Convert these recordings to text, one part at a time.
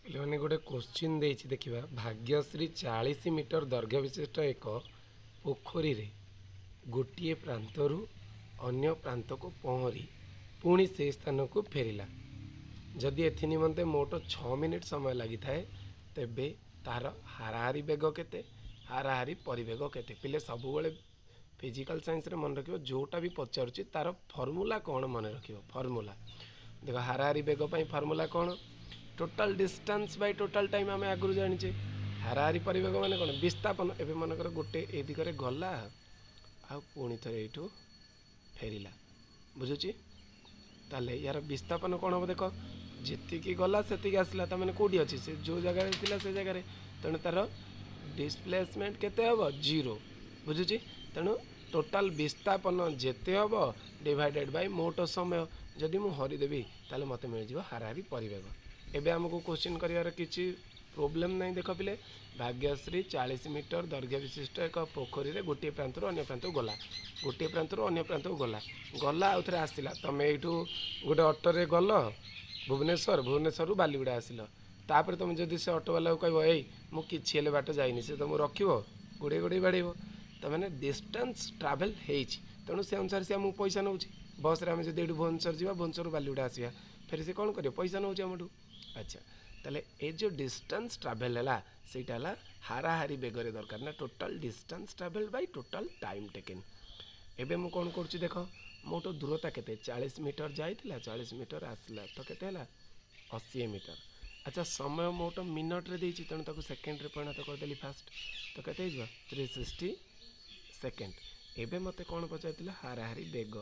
ପିଲାମାନେ, ଗୋଟେ କୋଶ୍ଚିନ୍ ଦେଇଛି, ଦେଖିବା। ଭାଗ୍ୟଶ୍ରୀ 40 ମିଟର ଦୈର୍ଘ୍ୟ ବିଶିଷ୍ଟ ଏକ ପୋଖରୀରେ ଗୋଟିଏ ପ୍ରାନ୍ତରୁ ଅନ୍ୟ ପ୍ରାନ୍ତକୁ ପହଁରି ପୁଣି ସେହି ସ୍ଥାନକୁ ଫେରିଲା। ଯଦି ଏଥି ନିମନ୍ତେ ମୋଟ 6 ମିନିଟ୍ ସମୟ ଲାଗିଥାଏ, ତେବେ ତାର ହାରାହାରି ବେଗ କେତେ, ହାରାହାରି ପରିବେଗ କେତେ? ପିଲେ, ସବୁବେଳେ ଫିଜିକାଲ୍ ସାଇନ୍ସରେ ମନେ ରଖିବ, ଯେଉଁଟା ବି ପଚାରୁଛି ତାର ଫର୍ମୁଲା କ'ଣ ମନେ ରଖିବ। ଫର୍ମୁଲା ଦେଖ, ହାରାହାରି ବେଗ ପାଇଁ ଫର୍ମୁଲା କ'ଣ? Total distance by total time, ଆମେ ଆଗରୁ ଜାଣିଛେ। ହାରାହାରି ପରିବେଗ ମାନେ କ'ଣ? ବିସ୍ଥାପନ। ଏବେ ମନେକର ଗୋଟେ ଏ ଦିଗରେ ଗଲା ଆଉ ପୁଣି ଥରେ ଏଇଠୁ ଫେରିଲା, ବୁଝୁଛି? ତାହେଲେ ୟାର ବିସ୍ଥାପନ କ'ଣ ହେବ? ଦେଖ, ଯେତିକି ଗଲା ସେତିକି ଆସିଲା। ତାମାନେ କେଉଁଠି ଅଛି ସେ? ଯେଉଁ ଜାଗାରେ ଥିଲା ସେ ଜାଗାରେ। ତେଣୁ ତାର ଡିସପ୍ଲେସମେଣ୍ଟ କେତେ ହେବ? ଜିରୋ, ବୁଝୁଛି? ତେଣୁ ଟୋଟାଲ ବିସ୍ଥାପନ ଯେତେ ହେବ ଡିଭାଇଡେଡ଼ ବାଇ ମୋଟ ସମୟ। ଯଦି ମୁଁ ହରିଦେବି, ତାହେଲେ ମୋତେ ମିଳିଯିବ ହାରାହାରି ପରିବେଗ। ଏବେ ଆମକୁ କୋଶ୍ଚିନ୍ କରିବାର କିଛି ପ୍ରୋବ୍ଲେମ୍ ନାହିଁ। ଦେଖ ପିଲେ, ଭାଗ୍ୟଶ୍ରୀ 40 ମିଟର ଦୈର୍ଘ୍ୟ ବିଶିଷ୍ଟ ଏକ ପୋଖରୀରେ ଗୋଟିଏ ପ୍ରାନ୍ତରୁ ଅନ୍ୟ ପ୍ରାନ୍ତକୁ ଗଲା, ଗୋଟିଏ ପ୍ରାନ୍ତରୁ ଅନ୍ୟ ପ୍ରାନ୍ତକୁ ଗଲା, ଗଲା, ଆଉ ଥରେ ଆସିଲା। ତମେ ଏଇଠୁ ଗୋଟେ ଅଟୋରେ ଗଲ ଭୁବନେଶ୍ୱର, ଭୁବନେଶ୍ୱରରୁ ବାଲିଗୁଡ଼ା ଆସିଲ। ତାପରେ ତୁମେ ଯଦି ସେ ଅଟୋବାଲାକୁ କହିବ, "ଏଇ, ମୁଁ କିଛି ହେଲେ ବାଟ ଯାଇନି", ସେ ତୁମକୁ ରଖିବ? ଗୋଡ଼େଇ ଗୋଡ଼େଇ ବାଡ଼େଇବ। ତାମାନେ ଡିଷ୍ଟାନ୍ସ ଟ୍ରାଭେଲ୍ ହେଇଛି, ତେଣୁ ସେ ଅନୁସାରେ ସେ ଆମକୁ ପଇସା ନେଉଛି। ବସ୍ରେ ଆମେ ଯଦି ଏଇଠୁ ଭୁବନେଶ୍ୱର ଯିବା, ଭୁବନେଶ୍ୱରରୁ ବାଲିଗୁଡ଼ା ଆସିବା, ଫେରେ ସେ କ'ଣ କରିବ? ପଇସା ନେଉଛି ଆମଠୁ। ଆଚ୍ଛା, ତାହେଲେ ଏ ଯେଉଁ ଡିଷ୍ଟାନ୍ସ ଟ୍ରାଭେଲ୍ ହେଲା, ସେଇଟା ହେଲା ହାରାହାରି ବେଗରେ ଦରକାର ନା total distance travel by total time taken। ଏବେ ମୁଁ କ'ଣ କରୁଛି ଦେଖ। ମୋଟ ଦୂରତା କେତେ? 40 ମିଟର ଯାଇଥିଲା, 40 ମିଟର ଆସିଲା, ତ କେତେ ହେଲା? 80 ମିଟର। ଆଚ୍ଛା, ସମୟ ମୋଟ ମିନିଟ୍ରେ ଦେଇଛି, ତେଣୁ ତାକୁ ସେକେଣ୍ଡରେ ପରିଣତ କରିଦେଲି ଫାଷ୍ଟ। ତ କେତେ ହେଇଯିବ? 360 ସେକେଣ୍ଡ। ଏବେ ମୋତେ କ'ଣ ପଚାରିଥିଲା? ହାରାହାରି ବେଗ।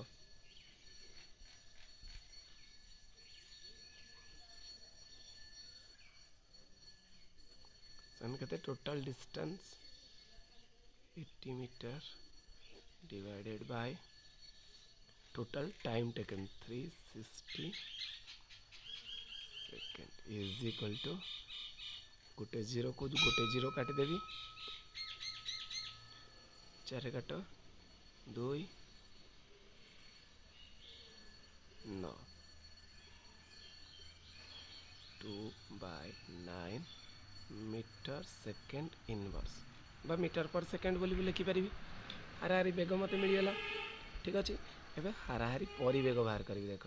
ସେମାନେ କେତେ? Total distance 80 meter divided by total time taken 360 second is equal to, ଗୋଟେ ଜିରୋକୁ ଗୋଟେ ଜିରୋ କାଟିଦେବି, ଚାରି କାଟ ଦୁଇ ନଅ, 2/9 meter second inverse ବା ମିଟର ପର ସେକେଣ୍ଡ ବୋଲି ବି ଲେଖିପାରିବି। ହାରାହାରି ବେଗ ମୋତେ ମିଳିଗଲା, ଠିକ୍ ଅଛି। ଏବେ ହାରାହାରି ପରିବେଗ ବାହାର କରିବି। ଦେଖ,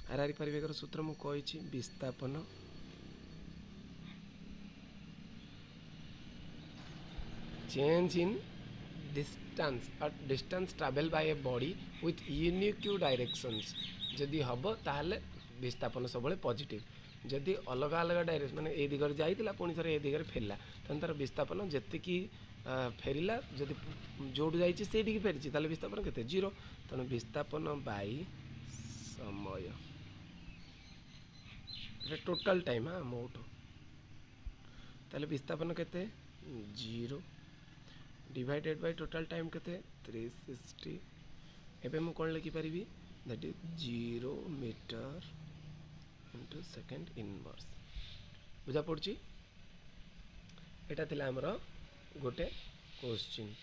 ହାରାହାରି ପରିବେଗର ସୂତ୍ର ମୁଁ କହିଛି, ବିସ୍ଥାପନ change in distance or distance travel by a body with unique directions ଯଦି ହେବ, ତାହେଲେ ବିସ୍ଥାପନ ସବୁବେଳେ ପଜିଟିଭ୍। ଯଦି ଅଲଗା ଅଲଗା ଡାଇରେକ୍ସନ୍, ମାନେ ଏଇ ଦିଗରେ ଯାଇଥିଲା, ପୁଣି ଥରେ ଏ ଦିଗରେ ଫେରିଲା, ତାହେଲେ ତାର ବିସ୍ଥାପନ ଯେତିକି ଫେରିଲା, ଯଦି ଯେଉଁଠୁ ଯାଇଛି ସେଇଠିକି ଫେରିଛି, ତାହେଲେ ବିସ୍ଥାପନ କେତେ? ଜିରୋ। ତେଣୁ ବିସ୍ଥାପନ ବାଇ ସମୟ, ଏଟା ଟୋଟାଲ ଟାଇମ୍, ହଁ, ମୋଟ। ତାହେଲେ ବିସ୍ଥାପନ କେତେ? Zero divided by total time କେତେ? 360। ଏବେ ମୁଁ କ'ଣ ଲେଖିପାରିବି? That is 0 meter into second inverse। ବୁଝା ପଡ଼ୁଛି? ଏଇଟା ଥିଲା ଆମର ଗୋଟେ କୋଶ୍ଚିନ୍।